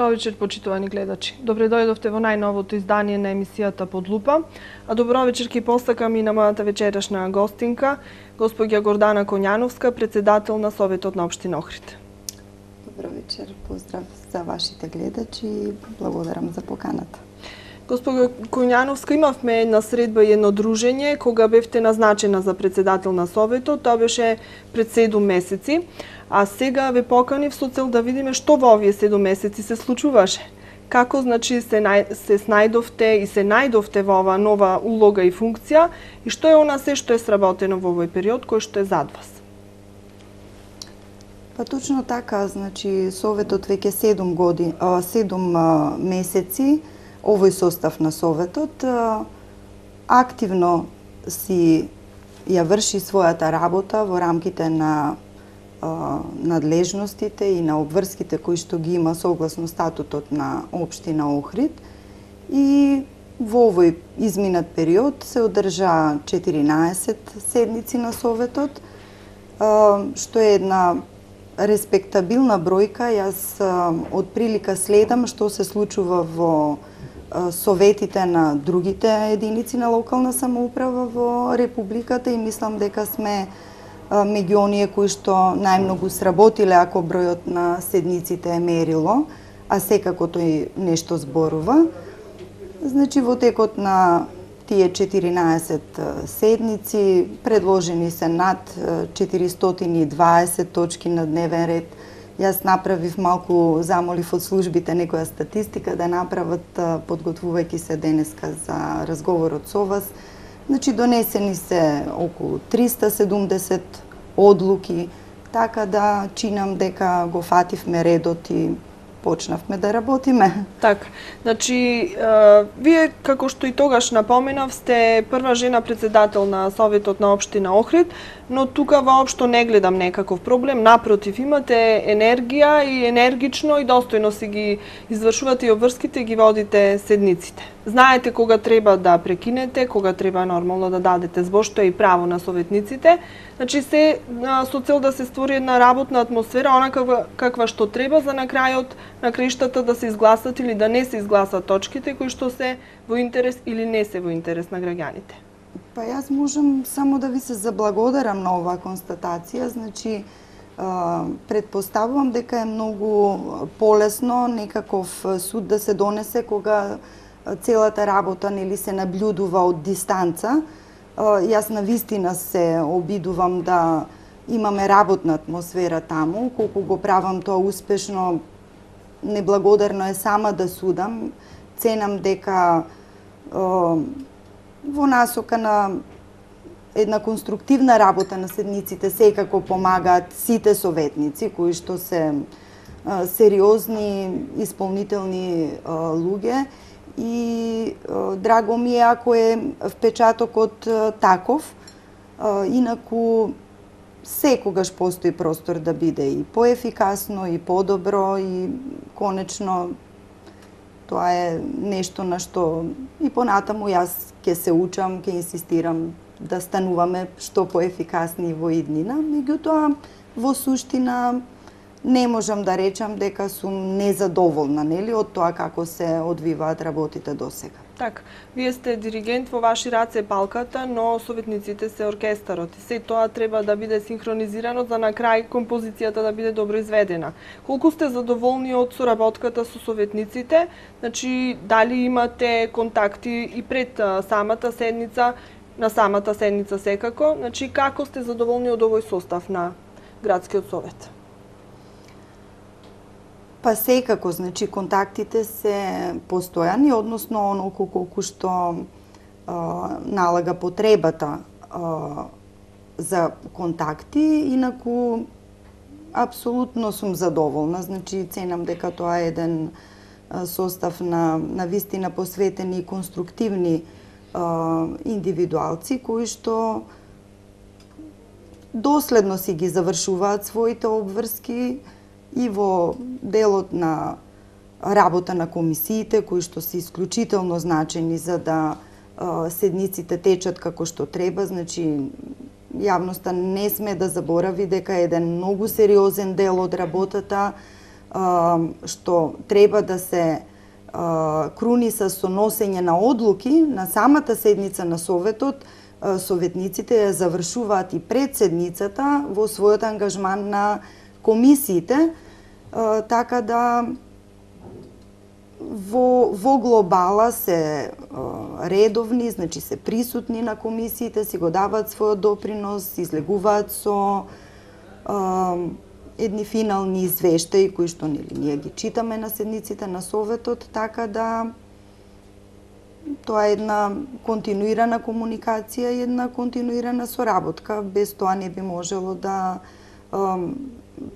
Добро вечер, почитувани гледачи. Добре дојдовте во најновото издание на емисијата Под лупа. А добро вечер ќе постакам и на мојата вечерашна гостинка, госпоѓа Гордана Коњановска, председател на Советот на општина Охрид. Добро вечер, поздрав за вашите гледачи и благодарам за поканата. Госпоѓа Коњановска, имавме една средба и едно дружење кога бевте назначена за председател на Советот, тоа беше пред 7 месеци. А сега ве поканив со цел да видиме што во овие 7 месеци се случуваше. Како значи се снајдовте и се најдовте во ова нова улога и функција и што е она се што е сработено во овој период кој што е зад вас? Па точно така, значи Советот веќе 7 месеци, овој состав на Советот активно си ја врши својата работа во рамките на надлежностите и на обврските кои што ги има согласно статутот на општина Охрид. И во овој изминат период се одржа 14 седници на Советот, што е една респектабилна бројка. Јас од прилика следам што се случува во советите на другите единици на локална самоуправа во Републиката и мислам дека сме меѓу оние кои што најмногу сработиле ако бројот на седниците е мерило, а секако тој нешто зборува. Значи во текот на тие 14 седници предложени се над 420 точки на дневен ред. Јас направив малку, замолив од службите некоја статистика да направат подготвувајќи се денеска за разговорот со вас. Значи донесени се околу 370 одлуки, така да чинам дека го фативме редот и почнавме да работиме. Така, значи, вие, како што и тогаш напоменав, сте прва жена председател на Советот на општина Охрид, но тука воопшто не гледам некаков проблем, напротив, имате енергија и енергично и достојно си ги извршувате и обврските и ги водите седниците. Знаете кога треба да прекинете, кога треба нормално да дадете збор, што е и право на советниците. Значи се со цел да се створи една работна атмосфера, онака каква што треба за на крајот на краиштата да се изгласат или да не се изгласат точките кои што се во интерес или не се во интерес на граѓаните. Па јас можам само да ви се заблагодарам на оваа констатација. Значи, предпоставувам дека е многу полесно некаков суд да се донесе кога целата работа нели се наблюдува од дистанца. Јас навистина се обидувам да имаме работна атмосфера таму. Колку го правам тоа успешно, неблагодарно е сама да судам. Ценам дека во насока на една конструктивна работа на седниците секако помагаат сите советници кои што се сериозни, исполнителни луѓе. И драго ми е ако е впечатокот таков, инаку секогаш постои простор да биде и поефикасно и подобро и конечно тоа е нешто на што и понатаму јас ќе се учам, ќе инсистирам да стануваме што поефикасни во иднина. Меѓутоа, во суштина, не можам да речам дека сум незадоволна, нели, од тоа како се одвиваат работите досега. Така, вие сте диригент, во ваши раце е палката, но советниците се оркестарот и се тоа треба да биде синхронизирано за на крај композицијата да биде добро изведена. Колку сте задоволни од соработката со советниците? Значи, дали имате контакти и пред самата седница, на самата седница секако? Значи, како сте задоволни од овој состав на градскиот совет? Па секако, значи, контактите се постојани, односно онолку колку што налага потребата за контакти, инаку апсолутно сум задоволна. Значи, ценам дека тоа е еден состав на вистина посветени и конструктивни индивидуалци кои што доследно си ги завршуваат своите обврски и во делот на работа на комисиите, кои што се исклучително значени за да седниците течат како што треба. Значи, јавноста не сме да заборави дека еден многу сериозен дел од работата што треба да се круни со носење на одлуки на самата седница на Советот, советниците ја завршуваат и пред седницата во својот ангажман на комисиите, така да во глобала се редовни, значи се присутни на комисиите, си го даваат својот допринос, излегуваат со едни финални извештаи кои што ние ги читаме на седниците на Советот, така да тоа е една континуирана комуникација и една континуирана соработка. Без тоа не би можело да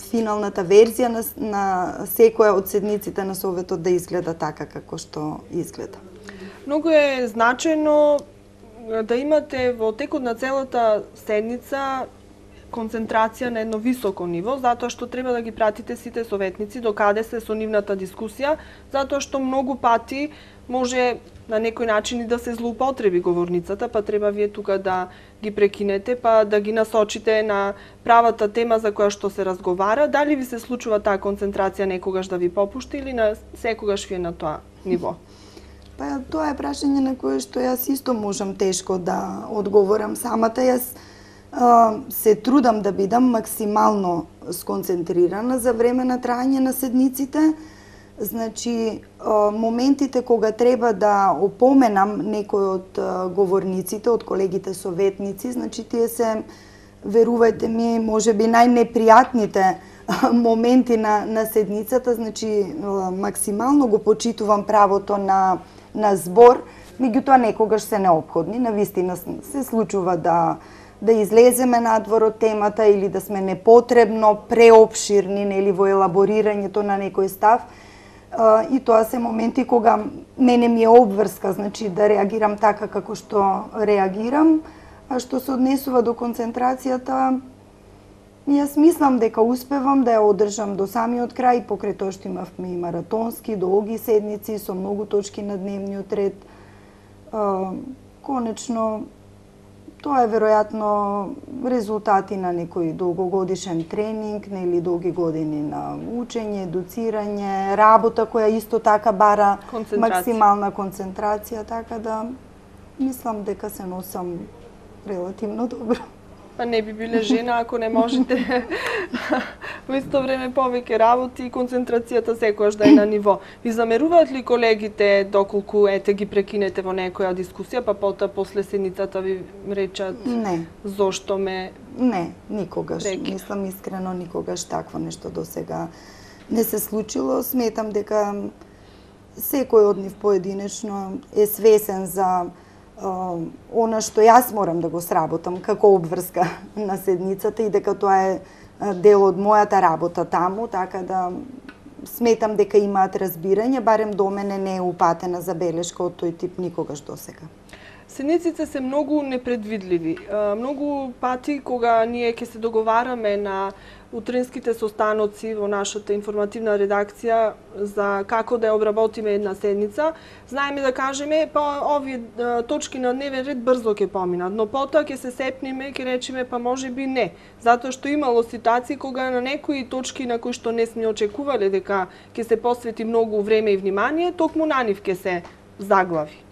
финалната верзија на секоја од седниците на Советот да изгледа така како што изгледа. Многу е значајно да имате во текот на целата седница концентрација на едно високо ниво, затоа што треба да ги пратите сите советници до каде се со нивната дискусија, затоа што многу пати може на некој начин и да се злоупотреби говорницата, па треба вие тука да ги прекинете, па да ги насочите на правата тема за која што се разговара. Дали ви се случува таа концентрација некогаш да ви попушти или на секогаш ви е на тоа ниво? Па тоа е прашање на кое што јас исто можам тешко да одговорам самата. Јас се трудам да бидам максимално сконцентрирана за време на трајање на седниците. Значи, моментите кога треба да опоменам некој од говорниците, од колегите советници, значи тие се, верувајте ми, можеби најнепријатните моменти на седницата, значи максимално го почитувам правото на збор, меѓутоа некогаш се неопходни. Навистина се случува да излеземе надвор од темата или да сме непотребно преопширни нели во елаборирањето на некој став. И тоа се моменти кога мене ми е обврска, значи да реагирам така како што реагирам, а што се однесува до концентрацијата, јас мислам дека успевам да ја одржам до самиот крај, покрај тоа што имавме и маратонски, долги седници со многу точки на дневниот ред. Конечно, тоа е веројатно резултати на некој долгогодишен тренинг, нели долги години на учење, едуцирање, работа која исто така бара максимална концентрација, така да мислам дека се носам релативно добро. Па не би биле жена ако не можете во исто време повеќе работи и концентрацијата секогаш да е на ниво. Ви замеруваат ли колегите доколку ги прекинете во некоја дискусија, па потоа после седницата ви речат не. Зошто ме Не, никогаш. Прекина. Мислам искрено никогаш такво нешто до сега не се случило. Сметам дека секој од нив поединечно е свесен за она што јас морам да го сработам како обврска на седницата и дека тоа е дел од мојата работа таму, така да сметам дека имаат разбирање, барем до мене не е упатена забелешка од тој тип никогаш до сега. Седниците се многу непредвидливи. Многу пати кога ние ќе се договараме на утринските состаноци во нашата информативна редакција за како да ја обработиме една седница, знаеме да кажеме па овие точки на дневен ред брзо ќе поминат, но потоа ќе се сепниме и ќе речеме па можеби не, затоа што имало ситуации кога на некои точки на кои што не сме очекувале дека ќе се посвети многу време и внимание, токму на нив ќе се заглави.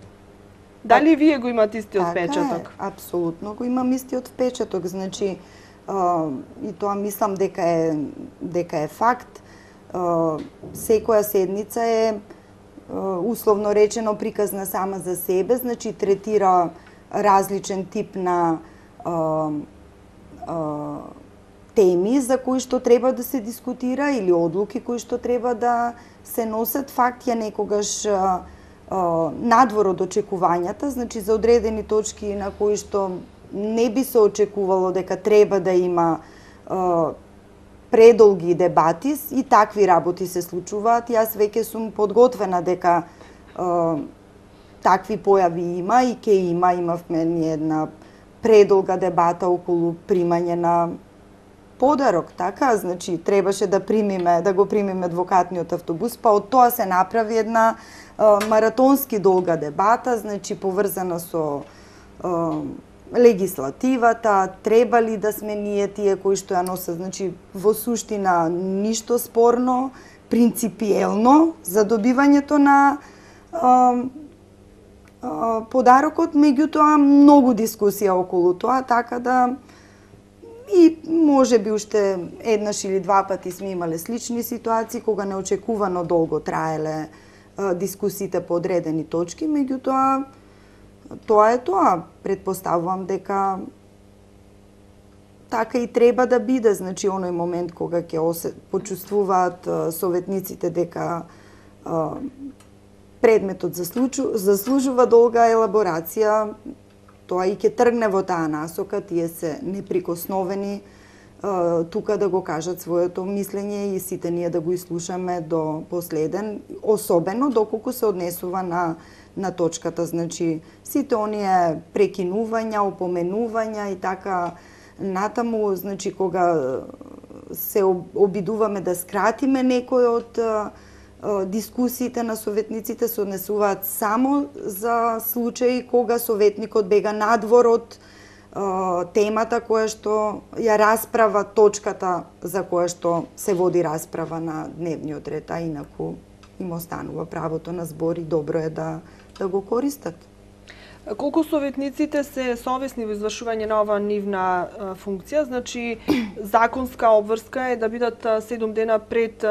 Дали вие го имате истиот впечаток? Така е, апсолутно го имам истиот впечаток, значи и тоа мислам дека е факт. Секоја седница е условно речено приказна сама за себе, значи третира различен тип на теми за кои што треба да се дискутира или одлуки кои што треба да се носат. Факт ја некогаш надвор од очекувањата, значи за одредени точки на кои што не би се очекувало дека треба да има предолги дебати и такви работи се случуваат. Јас веќе сум подготвена дека такви појави има и ќе има. Имавме ни една предолга дебата околу примање на подарок, така, значи требаше да го примиме адвокатниот автобус, па од тоа се направи една маратонски долга дебата, значи поврзана со легислативата, треба ли да сме ние тие кои што ја носат, значи во суштина ништо спорно, принципиелно за добивањето на подарокот, меѓутоа многу дискусија околу тоа, така да и може би уште еднаш или два пати сме имале слични ситуации кога неочекувано долго траеле дискусиите по одредени точки, меѓутоа тоа е тоа. Предпоставувам дека така и треба да биде, значи оној момент кога ќе почувствуваат советниците дека предметот заслужува долга елаборација, тоа и ќе тргне во таа насока, тие се неприкосновени тука да го кажат своето мислење и сите ние да го изслушаме до последен, особено доколку се однесува на точката, значи сите оние прекинувања, опоменувања и така натаму, значи кога се обидуваме да скратиме некој од дискусиите на советниците, се однесуваат само за случаи кога советникот бега надвор од темата која што ја расправа точката за која што се води расправа на дневниот ред, а инаку им останува правото на збор и добро е да го користат. Колку советниците се совесни во извршување на оваа нивна функција, значи законска обврска е да бидат 7 дена пред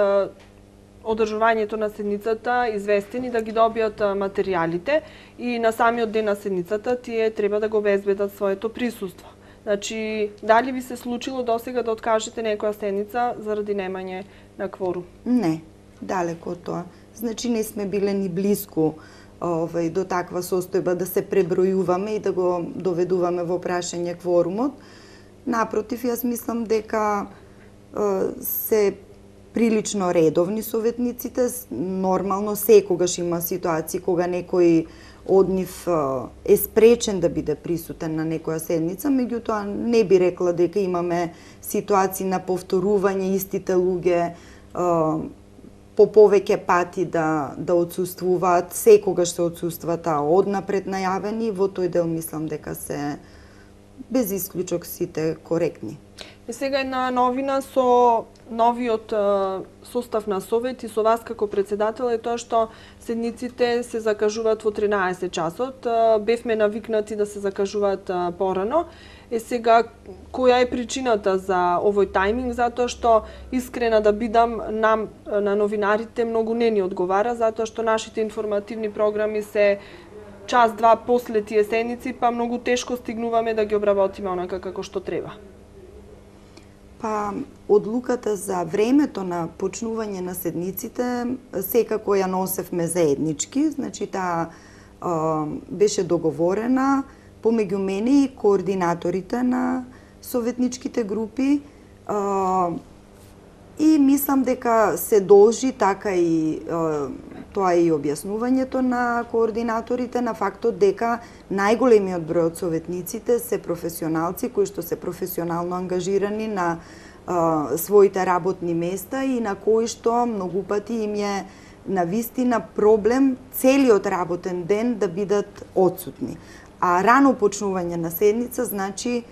одржувањето на седницата известени да ги добијат материјалите и на самиот ден на седницата тие треба да го обезбедат своето присуство. Значи, дали би се случило досега да откажете некоја седница заради немање на кворум? Не, далеко од тоа. Значи, не сме биле ни блиску до таква состојба да се пребројуваме и да го доведуваме во прашање кворумот. Напротив, јас мислам дека се прилично редовни советниците, нормално секогаш има ситуации кога некој од нив е спречен да биде присутен на некоја седница, меѓутоа не би рекла дека имаме ситуации на повторување истите луѓе по повеќе пати да отсуствуваат, секогаш се отсустваат однапред најавени, во тој дел мислам дека се без исклучок сите коректни. И сега една новина со новиот состав на совет и со вас како председател е тоа што седниците се закажуваат во 13 часот. Бевме навикнати да се закажуваат порано. Сега, која е причината за овој тајминг? Затоа што, искрена да бидам, нам, на новинарите, многу не ни одговара, затоа што нашите информативни програми се час-два после тие седници, па многу тешко стигнуваме да ги обработиме онака како што треба. Па, одлуката за времето на почнување на седниците секако ја носевме заеднички, значи таа беше договорена помеѓу мене и координаторите на советничките групи и мислам дека се должи така и тоа и објаснувањето на координаторите на фактот дека најголемиот број од советниците се професионалци кои што се професионално ангажирани на своите работни места и на кои што многу пати им е навистина проблем целиот работен ден да бидат отсутни. А рано почнување на седница значи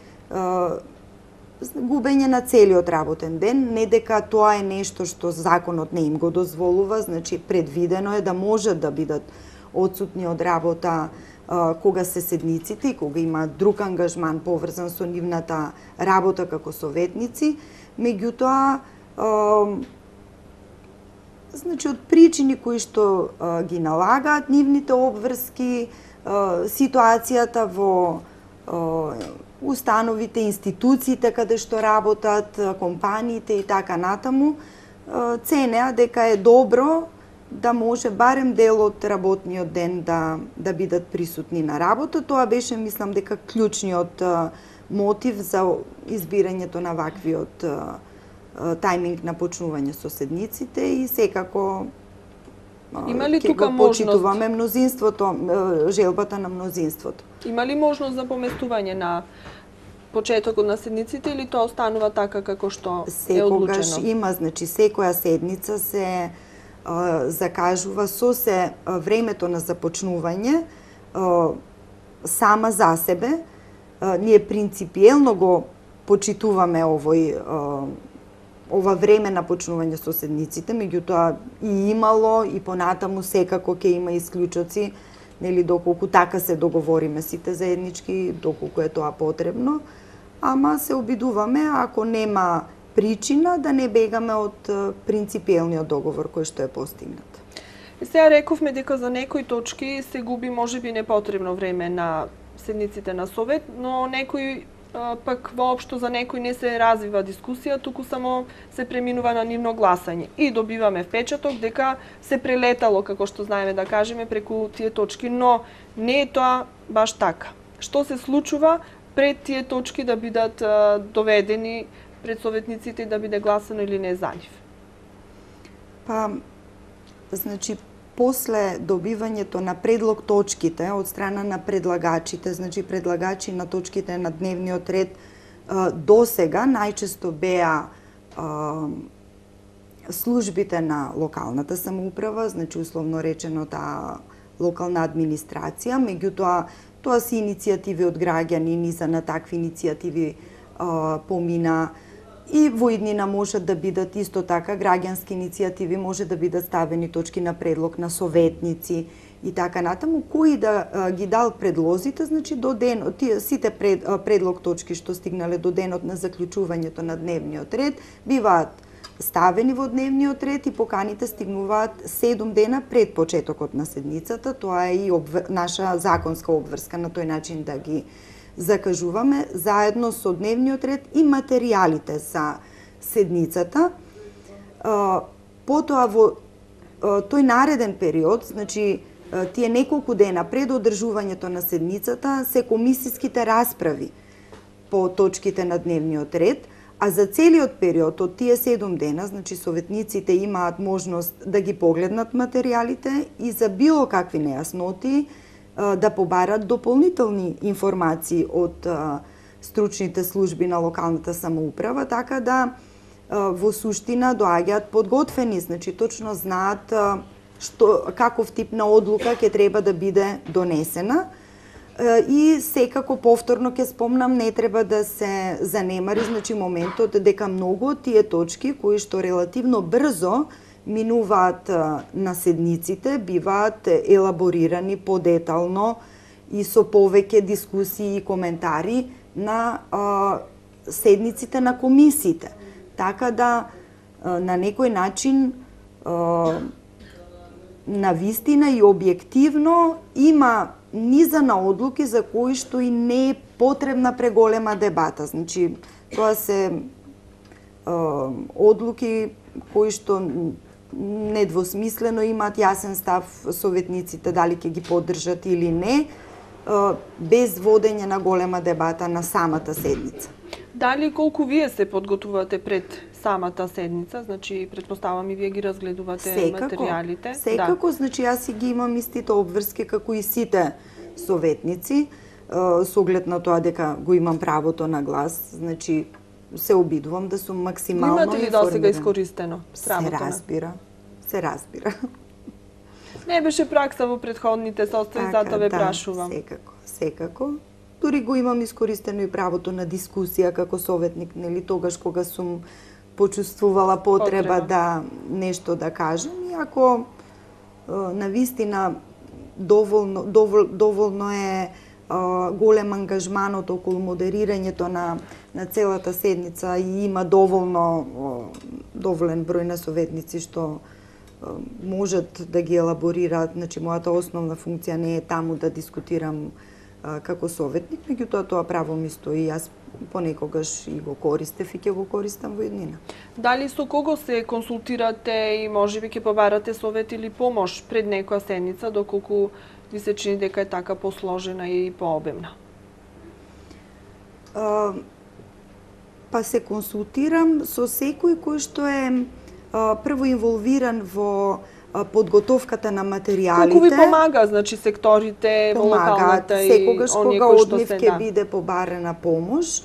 губење на целиот работен ден, не дека тоа е нешто што законот не им го дозволува, значи предвидено е да можат да бидат отсутни од работа кога се седниците и кога има друг ангажман поврзан со нивната работа како советници, меѓутоа значи од причини кои што ги налагаат нивните обврски, ситуацијата во установите, институциите каде што работат, компаниите и така натаму, ценеа дека е добро да може барем дел од работниот ден да бидат присутни на работа. Тоа беше, мислам, дека клучниот мотив за избирањето на ваквиот тајминг на почнување со седниците и секако има ли тука го почитуваме мнозинството, желбата на мнозинството. Има ли можност за поместување на почетокот на седниците или тоа останува така како што е одлучено? Секогаш има, значи секоја седница се закажува со се времето на започнување сама за себе. Ние принципиелно го почитуваме овој ова време на почнување со седниците, меѓутоа и имало и понатаму секако ќе има исклучоци, нели доколку така се договориме сите заеднички, доколку е тоа потребно, ама се обидуваме ако нема причина да не бегаме од принципиелниот договор кој што е постигнат. Сега рековме дека за некои точки се губи можеби непотребно време на седниците на совет, но некои пак воопшто за некои не се развива дискусија, туку само се преминува на нивно гласање и добиваме впечаток дека се прелетало, како што знаеме да кажеме, преку тие точки, но не е тоа баш така. Што се случува пред тие точки да бидат доведени пред советниците и да биде гласано или не за нив? Па, значи, после добивањето на предлог точките од страна на предлагачите, значи предлагачи на точките на дневниот ред, до сега најчесто беа службите на локалната самоуправа, значи условно речено таа локална администрација, меѓутоа тоа се иницијативи од граѓани, низа на такви иницијативи помина. И во иднина можат да бидат исто така граѓански иницијативи, може да бидат ставени точки на предлог на советници и така натаму, кои да ги дал предлозите, значи до ден, сите предлог точки што стигнале до денот на заклучувањето на дневниот ред, биваат ставени во дневниот ред и поканите стигнуваат 7 дена пред почетокот на седницата. Тоа е и наша законска обврска на тој начин да ги закажуваме заедно со дневниот ред и материјалите за седницата. Потоа во тој нареден период, значи тие неколку дена пред одржувањето на седницата, се комисиските расправи по точките на дневниот ред, а за целиот период од тие 7 дена, значи советниците имаат можност да ги погледнат материјалите и за било какви нејасноти да побарат дополнителни информации од стручните служби на локалната самоуправа, така да во суштина доаѓаат подготвени, значи точно знаат каков тип на одлука ќе треба да биде донесена. И секако повторно ќе спомнам, не треба да се занемари, значи моментот дека многу од тие точки кои што релативно брзо минуваат на седниците, биваат елаборирани подетално и со повеќе дискусии и коментари на седниците на комисиите. Така да на некој начин на вистина и објективно има низа на одлуки за кои што и не е потребна преголема дебата. Значи, тоа се одлуки кои што недвосмислено имаат јасен став советниците дали ќе ги поддржат или не, без водење на голема дебата на самата седница. Дали колку вие се подготвувате пред самата седница, значи претпоставам и вие ги разгледувате материјалите? Секако, значи јас си ги имам истите обврски како и сите советници, со оглед на тоа дека го имам правото на глас, значи се обидувам да сум максимално информирана. Имате ли досега искористено правото? Се разбира. Не беше пракса во претходните состојби, затоа ве прашувам. Секако. Дури го имам искористено и правото на дискусија како советник, нели тогаш кога сум почувствувала потреба да нешто да кажам, и ако навистина доволно е голем ангажманот околу модерирањето на целата седница и има доволен број на советници што можат да ги елаборираат, значи мојата основна функција не е таму да дискутирам како советник, меѓутоа тоа право ми стои, јас понекогаш и го користев и ќе го користам во иднина. Дали со кого се консултирате и можеби ќе побарате совет или помош пред некоја седница, доколку ви се чини дека е така посложена и пообемна? Па се консултирам со секој кој што е прво инволвиран во подготовката на материјалите. Колку ви помага, значи секторите во локалната и секогаш кога од нив ќе биде побарена помош.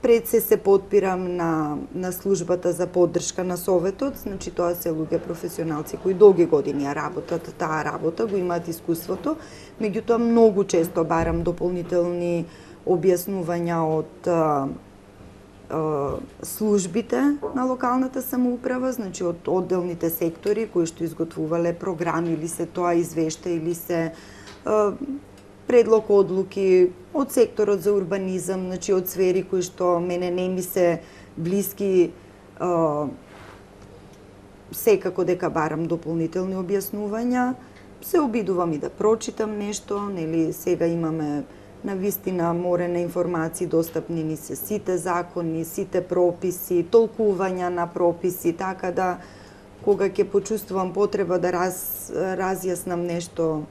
Пред се подпирам на службата за поддршка на советот, значи тоа се луѓе професионалци кои долги години ја работат таа работа, го имаат искуството, меѓутоа многу често барам дополнителни објаснувања од службите на локалната самоуправа, значи од одделните сектори кои што изготвувале програми или се тоа извешта или се предлог одлуки од секторот за урбанизам, значи од сфери кои што мене не ми се блиски, секако дека барам дополнителни објаснувања, се обидувам и да прочитам нешто, нели сега имаме навистина море на информации, достапни ни се сите закони, сите прописи, толкувања на прописи, така да кога ќе почувствувам потреба да разјаснам нешто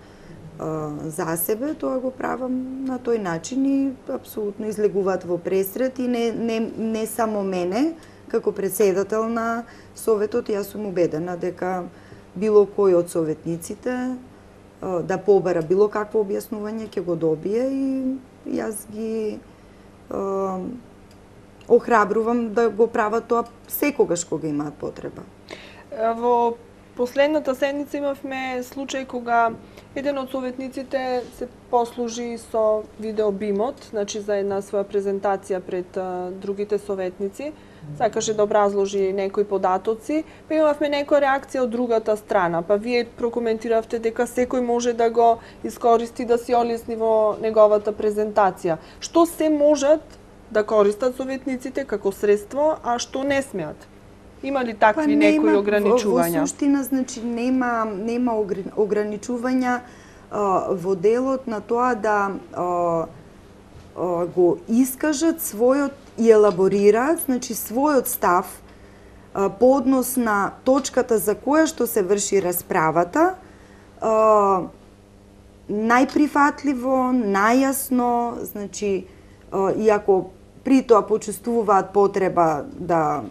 за себе, тоа го правам на тој начин и апсолутно излегуваат во пресрет и не само мене, како председател на Советот, јас сум убедена дека било кој од советниците да побара било какво објаснување ќе го добие и јас ги охрабрувам да го прават тоа секогаш кога имаат потреба. Во последната седница имавме случај кога еден од советниците се послужи со видеобимот, значи за една своја презентација пред другите советници, сакаше да образложи некои податоци, па имавме некоја реакција од другата страна, па вие прокоментиравте дека секој може да го искористи да си олесни во неговата презентација. Што се можат да користат советниците како средство, а што не смеат? Има ли такви некои ограничувања? Во суштина, значи, нема ограничувања во делот на тоа да го искажат својот и елаборираат, значи, својот став по однос на точката за која што се врши расправата, најприфатливо, најасно, значи, иако при тоа почувствуваат потреба да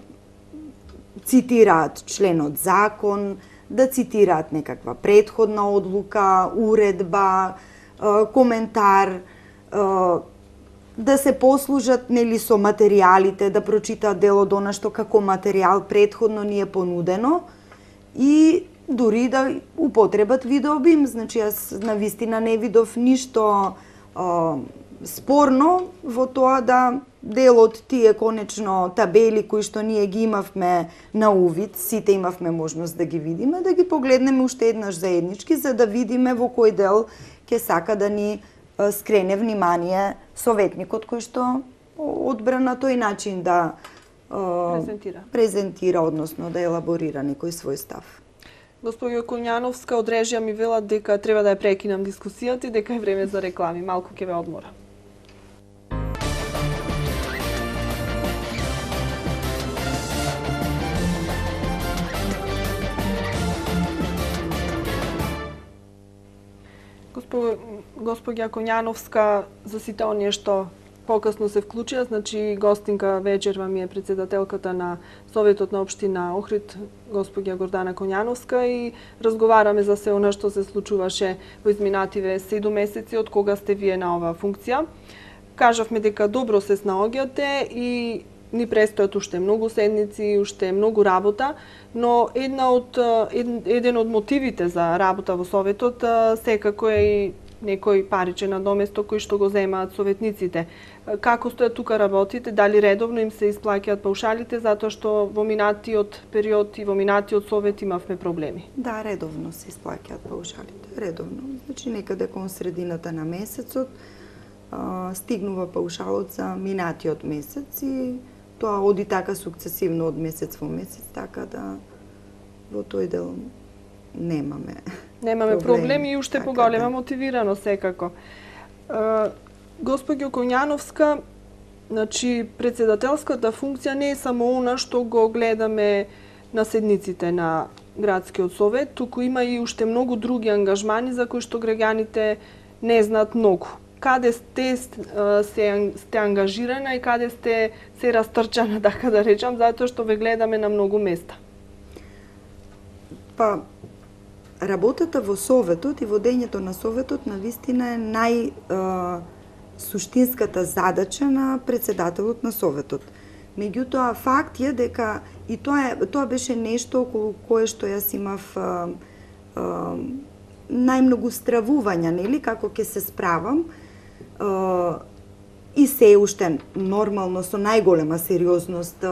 цитираат членот закон, да цитираат некаква претходна одлука, уредба, коментар, да се послужат нели со материјалите, да прочитаат дел од она што како материјал претходно ни е понудено и дури да употребат видеобим. Значи јас навистина не видов ништо спорно во тоа да дел од тие конечно табели кои што ние ги имавме на увид, сите имавме можност да ги видиме, да ги погледнеме уште еднаш заеднички за да видиме во кој дел ќе сака да ни скрене внимание советникот кој што одбра на тој начин да презентира, односно да елаборира некој свој став. Госпоѓо Коњановска, од режија ми велат дека треба да ја прекинам дискусијата и дека е време за реклами. Малку ќе ве одмора. Госпоѓа Коњановска, за сите оние што покасно се вклучија, значи гостинка вечерва ми е председателката на Советот на општина Охрид, госпоѓа Гордана Коњановска, и разговараме за се она што се случуваше во изминативе 7 месеци од кога сте вие на оваа функција. Кажавме дека добро се снаоѓате и ни престојат уште многу седници, уште многу работа, но еден од мотивите за работа во Советот секако е и некој паричен надоместок кој што го земаат советниците. Како стојат тука работите? Дали редовно им се исплаќаат паушалите, затоа што во минатиот период и во минатиот совет имавме проблеми? Да, редовно се исплаќаат паушалите, редовно. Значи некаде кон средината на месецот стигнува паушалот за минатиот месец и тоа оди така сукцесивно од месец во месец, така да во тој дел немаме проблеми и уште поголема мотивирано секако. Госпоѓо Коњановска, значи председателската функција не е само она што го гледаме на седниците на градскиот совет, туку има и уште многу други ангажмани за кои што граѓаните не знаат многу. Каде сте ангажирана и каде сте се растрчана, така да речам, затоа што ве гледаме на многу места? Па, работата во Советот и водењето на Советот навистина е суштинската задача на председателот на Советот. Меѓутоа, факт е дека и тоа беше нешто околу кое што јас имав најмногу стравувања, нели, како ќе се справам. и се уште нормално со најголема сериозност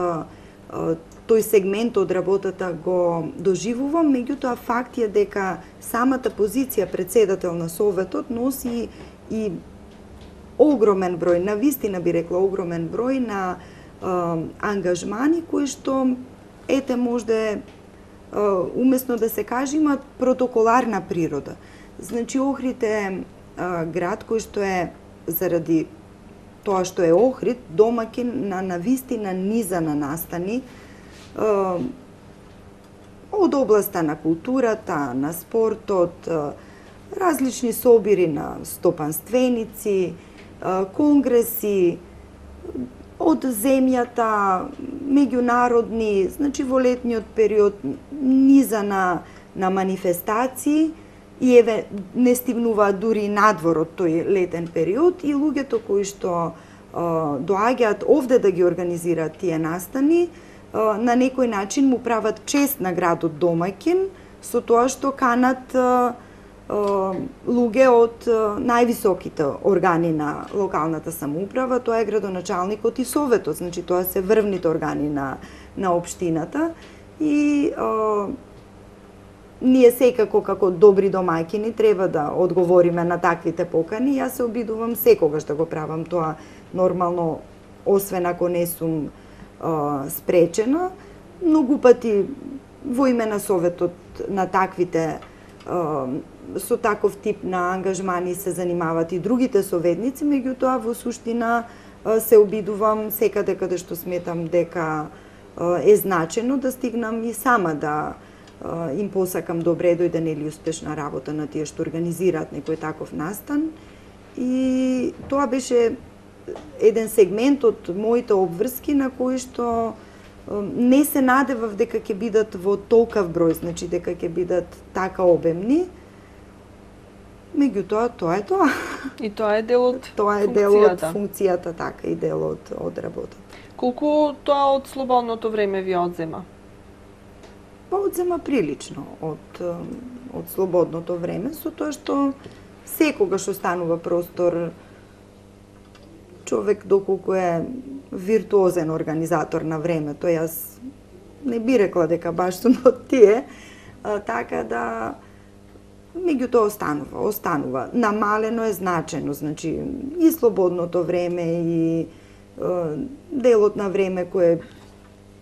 тој сегмент од работата го доживувам, меѓутоа факт е дека самата позиција председател на Советот носи и огромен број, навистина би рекла огромен број на ангажмани кои што ете можда умесно да се каже имаат протоколарна природа. Значи Охрид е град кој што е заради тоа што е Охрид домаќин на навистина низа на настани од областа на културата, на спортот, различни собири на стопанственици, конгреси од земјата, меѓународни, значи во летниот период низа на манифестации и не стигнуваат дури надвор од тој летен период и луѓето кои што доаѓаат овде да ги организираат тие настани, на некој начин му прават чест на градот домаќин со тоа што канат луѓе од највисоките органи на локалната самоуправа, тоа е градоначалникот и советот, значи тоа се врвните органи на општината и ние секако како добри домаќини треба да одговориме на таквите покани. Јас се обидувам секогаш да го правам тоа нормално, освен ако не сум спречена. Многу пати во име на советот на таквите со таков тип на ангажмани се занимаваат и другите советници, меѓутоа во суштина се обидувам секаде каде што сметам дека е значено да стигнам и сама да им посакам добре дојде нели успешна работа на тие што организираат некој таков настан. И тоа беше еден сегмент од моите обврски на кои што не се надевав дека ќе бидат во толкав број, значи дека ќе бидат така обемни. Меѓутоа, тоа е тоа. И тоа е дел од тоа е дел од функцијата, така и дел од работата. Колку тоа од слободното време ви одзема? Па одзема прилично од слободното време, со тоа што секогаш останува простор човек доколку е виртуозен организатор на времето. Јас не би рекла дека баш сум од тие, така да меѓутоа останува. Намалено е значено, значи и слободното време и делот на време кое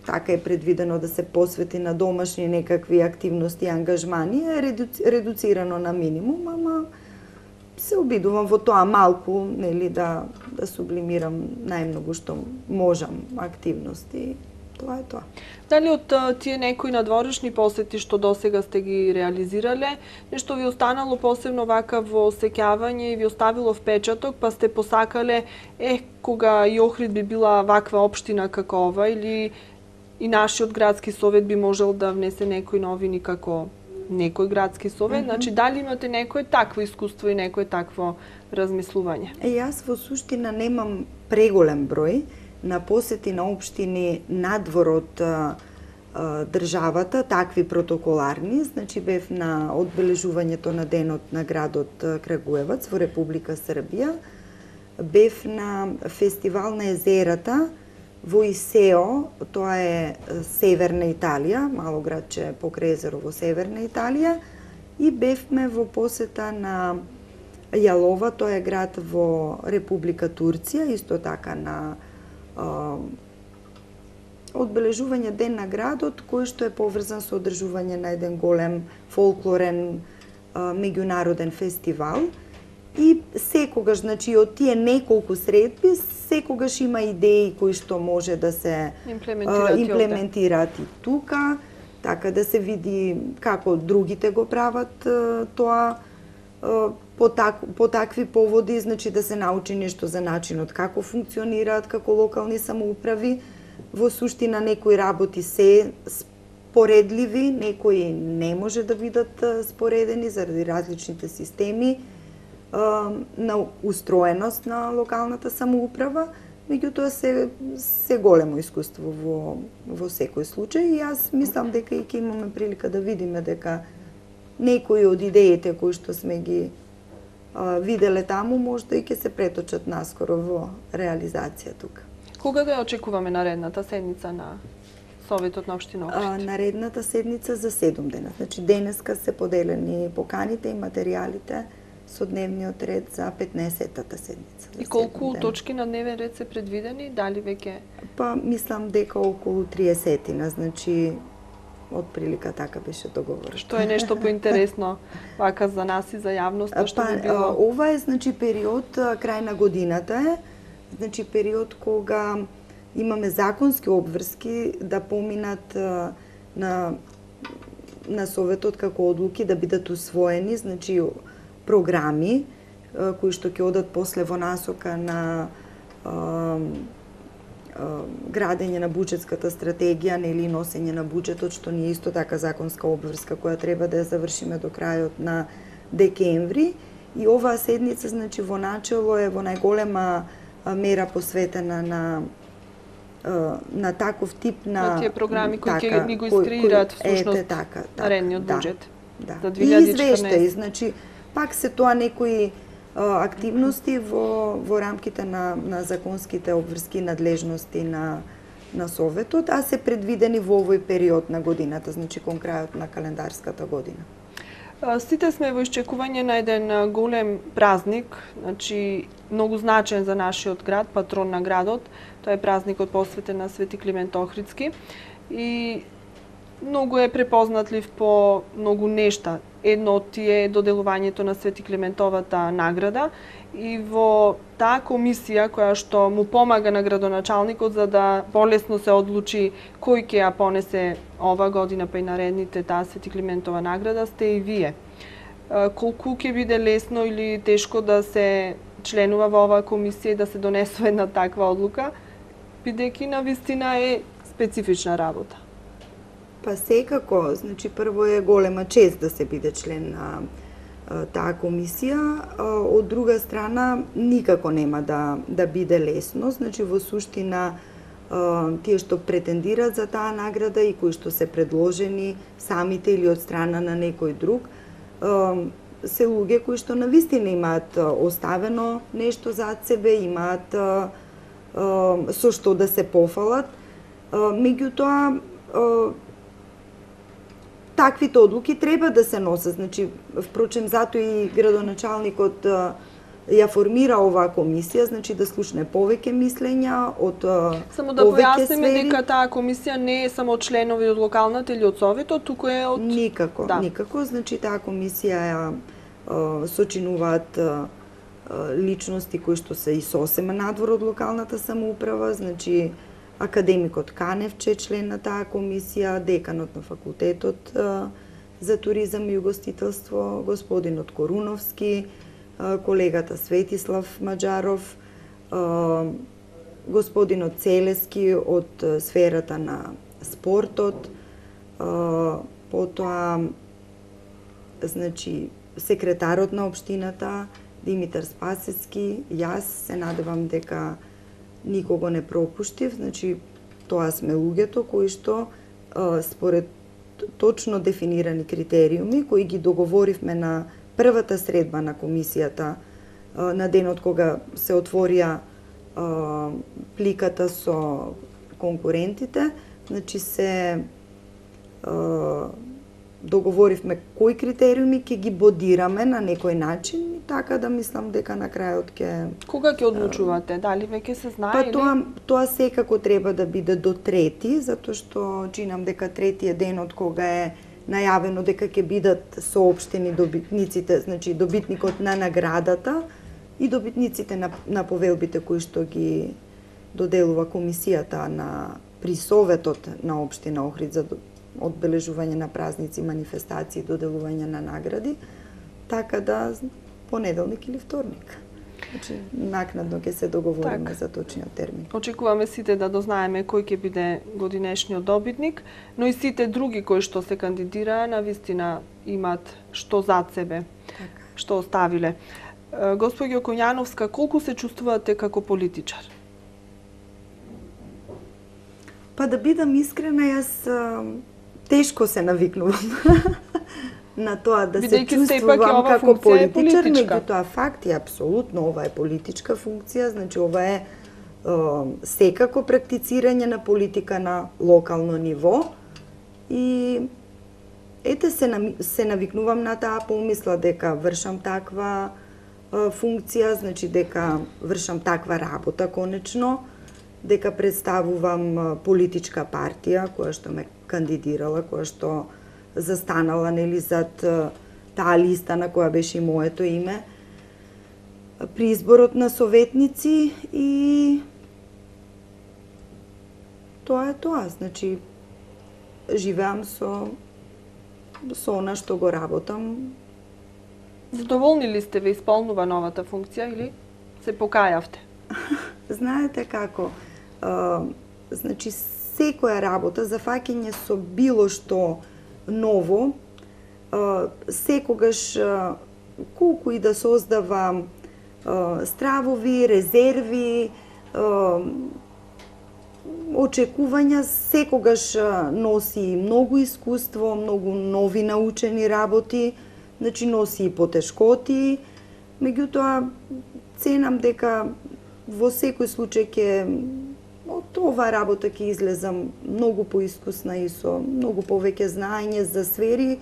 така е предвидено да се посвети на домашни некакви активности и ангажмани е редуцирано на минимум, ама се обидувам во тоа малку, нели, да сублимирам најмногу што можам активности. Тоа е тоа. Дали од тие некои надворешни посети што досега сте ги реализирале, нешто ви останало посебно вака во сеќавање и ви оставило впечаток, па сте посакале кога и Охрид би била ваква општина како ова, или и нашиот градски совет би можел да внесе некои новини како некој градски совет? Значи, дали имате некое такво искуство и некое такво размислување? Јас во суштина немам преголем број на посети на општини надвор од државата, такви протоколарни. Значи, бев на одбележувањето на денот на градот Крагуевац во Република Србија. Бев на фестивал на езерата во Исео, тоа е северна Италија, мало градче покрај езеро во северна Италија, и бевме во посета на Јалова, тоа е град во Република Турција, исто така на одбележување ден на градот, кој што е поврзан со одржување на еден голем фолклорен меѓународен фестивал. И секогаш, значи, од тие неколку средби, секогаш има идеи кои што може да се имплементираат и тука, така да се види како другите го прават тоа по такви поводи, значи да се научи нешто за начинот како функционираат како локални самоуправи. Во суштина некои работи се споредливи, некои не може да бидат споредени заради различните системи на устроеност на локалната самоуправа, меѓутоа се големо искуство во секој случај и јас мислам дека и ќе имаме прилика да видиме дека некои од идеите кои што сме ги виделе таму, можда и ќе се преточат наскоро во реализација тука. Кога да ја очекуваме наредната седница на Советот на општина Охрид? Наредната седница за 7 дена. Значи денеска се поделени поканите и материјалите со дневниот ред за 15-тата седница. И колку точки на дневен ред се предвидени? Дали веќе? Па мислам дека околу 30-тина, значи отприлика така беше договорено. Што е нешто поинтересно вака за нас и за јавноста, што би било? Ова е значи период крај на годината е, значи период кога имаме законски обврски да поминат на Советот како одлуки да бидат усвоени, значи програми кои што ќе одат после во насока на градење на буџетската стратегија или носење на буџетот, што ни е исто така законска обврска која треба да ја завршиме до крајот на декември. И оваа седница, значи, во начело е во најголема мера посветена на таков тип на тие програми кои ќе ни го искреираат всушност наредниот буџет за 2014. И извештаи, значи, пак се тоа некои активности во рамките на законските обврски надлежности на Советот, а се предвидени во овој период на годината, значи кон крајот на календарската година. Сите сме во исчекување на еден голем празник, значи многу значен за нашиот град, патрон на градот. Тоа е празникот посветен на Свети Климент Охридски и многу е препознатлив по многу нешта. Едно од тие е доделувањето на Свети Климентовата награда и во таа комисија која што му помага на градоначалникот за да полесно се одлучи кој ќе ја понесе ова година па и наредните таа Свети Климентова награда сте и вие. Колку ќе биде лесно или тешко да се членува во оваа комисија и да се донесува една таква одлука, бидејќи навистина е специфична работа? Па секако, значи прво е голема чест да се биде член на таа комисија, од друга страна никако нема да биде лесно, значи во суштина тие што претендираат за таа награда и кои што се предложени самите или од страна на некој друг, се луѓе кои што навистина имаат оставено нешто зад себе, имаат со што да се пофалат, меѓутоа таквите одлуки треба да се носат. Значи, впрочем, затоа и градоначалникот ја формира оваа комисија, значи да слушне повеќе мислења од само да појасниме дека таа комисија не е само членови од локалната или од Советот, туку е од... Никако, никако. Значи, таа комисија ја сочинуваат личности кои што се и сосема надвор од локалната самоуправа, значи академикот Каневче, член на таа комисија, деканот на факултетот за туризам и угостителство, господинот Коруновски, колегата Светислав Маџаров, господинот Целески од сферата на спортот, потоа значи секретарот на општината Димитар Спасецки, јас се надевам дека никого не пропуштив, значи тоа сме луѓето кои што според точно дефинирани критериуми кои ги договоривме на првата средба на комисијата на денот кога се отворија пликата со конкурентите, значи се договоривме кои критериуми ќе ги бодираме на некој начин и така да мислам дека на крајот ќе... Кога ќе одлучувате? Дали веќе се знае? Па тоа секако треба да биде до 3, затоа што чинам дека 3 е денот кога е најавено дека ќе бидат соопштени добитниците, значи добитникот на наградата и добитниците на повелбите кои што ги доделува комисијата при Советот на општина Охрид за одбележување на празници, манифестации, доделување на награди, така да понеделник или вторник. Значи, накнадно ќе се договориме за точниот термин. Очекуваме сите да дознаеме кој ќе биде годинешниот добитник, но и сите други кои што се кандидираа навистина имаат што зад себе, што оставиле. Госпоѓо Коњановска, колку се чувствувате како политичар? Па да бидам искрена, јас тешко се навикнувам на тоа да се Бидејќи сепак е чувствувам ова како функција е политичар, политичка. меѓутоа факт е апсолутно ова е политичка функција, значи ова е секако практицирање на политика на локално ниво и ете се навикнувам на таа помисла дека вршам таква функција, значи дека вршам таква работа конечно, дека представувам политичка партија која што ме кандидирала, која што застанала нели зад таа листа на која беше и моето име при изборот на советници и тоа е тоа, значи живеам со она што го работам. Задоволни ли сте ве исполнува новата функција или се покајавте? Знаете како, значи секоја работа за фаќање со било што ново, секогаш колку и да создава стравови, резерви, очекувања, секогаш носи многу искуство, многу нови научени работи, значи носи и потешкоти, меѓутоа ценам дека во секој случај ќе од оваа работа ќе излезам многу поискусна и со многу повеќе знаење за сфери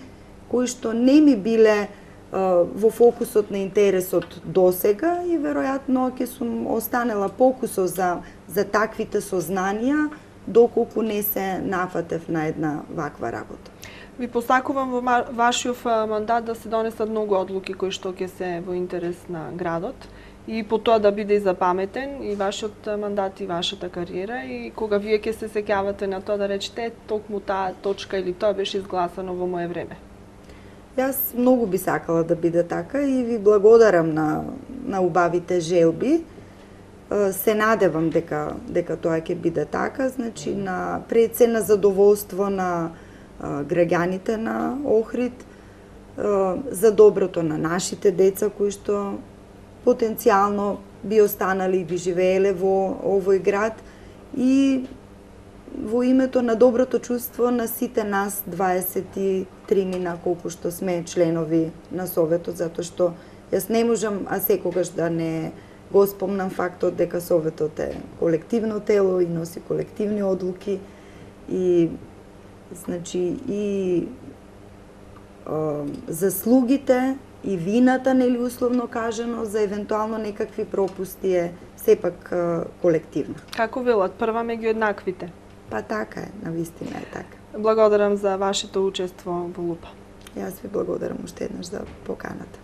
кои што не ми биле во фокусот на интересот досега и веројатно ќе сум останела покусо за таквите сознанија доколку не се нафатев на една ваква работа. Ви посакувам во вашиот мандат да се донесат многу одлуки кои што ќе се во интерес на градот и по тоа да биде и запаметен и вашиот мандат и вашата кариера и кога вие ќе се сеќавате на тоа да речете токму таа точка или тоа беше изгласано во мое време. Јас многу би сакала да биде така и ви благодарам на убавите желби. Се надевам дека тоа ќе биде така, значи на пред се на задоволство на граѓаните на Охрид, за доброто на нашите деца кои што потенцијално би останали и би живееле во овој град и во името на доброто чувство на сите нас 23 мина колку што сме членови на Советот, затоа што јас не можам а секогаш да не го спомнам фактот дека Советот е колективно тело и носи колективни одлуки и значи и заслугите и вината, нели условно кажано, за евентуално некакви пропусти е сепак колективна. Како велат, прва меѓу еднаквите? Па така е, навистина е така. Благодарам за вашето учество во ЛУПА. Јас ви благодарам уште еднаш за поканата.